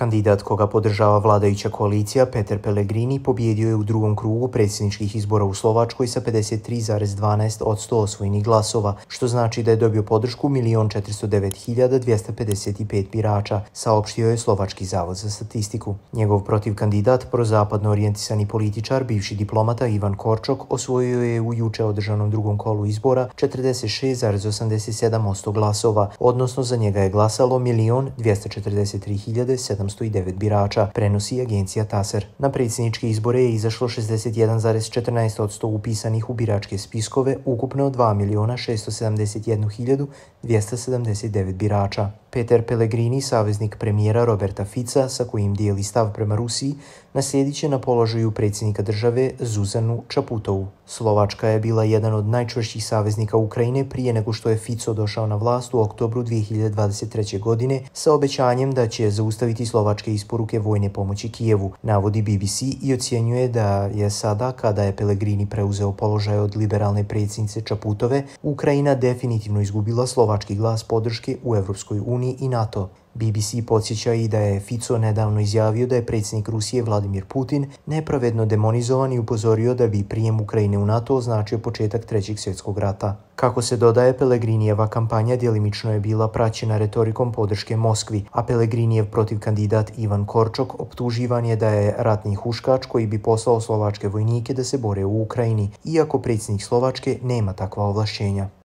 Kandidat koga podržava vladajuća koalicija, Peter Pellegrini, pobjedio je u drugom krugu predsjedničkih izbora u Slovačkoj sa 53,12% osvojenih glasova, što znači da je dobio podršku 1.409.255 birača, saopštio je Slovački zavod za statistiku. Njegov protiv kandidat, prozapadno orijentisani političar, bivši diplomata Ivan Korčok, osvojio je u juče održanom drugom kolu izbora 46,87% glasova, odnosno za njega je glasalo 1.243.709 birača, prenosi agencija TASER. Na predsjedničke izbore je izašlo 61,14% upisanih u biračke spiskove, ukupno 2.671.279 birača. Peter Pellegrini, saveznik premijera Roberta Fica, sa kojim dijeli stav prema Rusiji, naslijedit će na položaju predsjednika države Zuzanu Čaputovu. Slovačka je bila jedan od najčvršćih saveznika Ukrajine prije nego što je Fico došao na vlast u oktobru 2023. godine sa obećanjem da će zaustaviti slovačke isporuke vojne pomoći Kijevu, navodi BBC i ocjenjuje da je sada, kada je Pellegrini preuzeo položaj od liberalne predsjednice Čaputove, Ukrajina definitivno izgubila slovački glas podrške u Evropskoj uniji i NATO. BBC podsjeća i da je Fico nedavno izjavio da je predsjednik Rusije Vladimir Putin nepravedno demonizovan i upozorio da bi prijem Ukrajine u NATO označio početak Trećeg svjetskog rata. Kako se dodaje, Pellegrinijeva kampanja djelimično je bila praćena retorikom podrške Moskvi, a Pellegrinijev protiv kandidat Ivan Korčok optuživan je da je ratni huškač koji bi poslao slovačke vojnike da se bore u Ukrajini, iako predsjednik Slovačke nema takva ovlašćenja.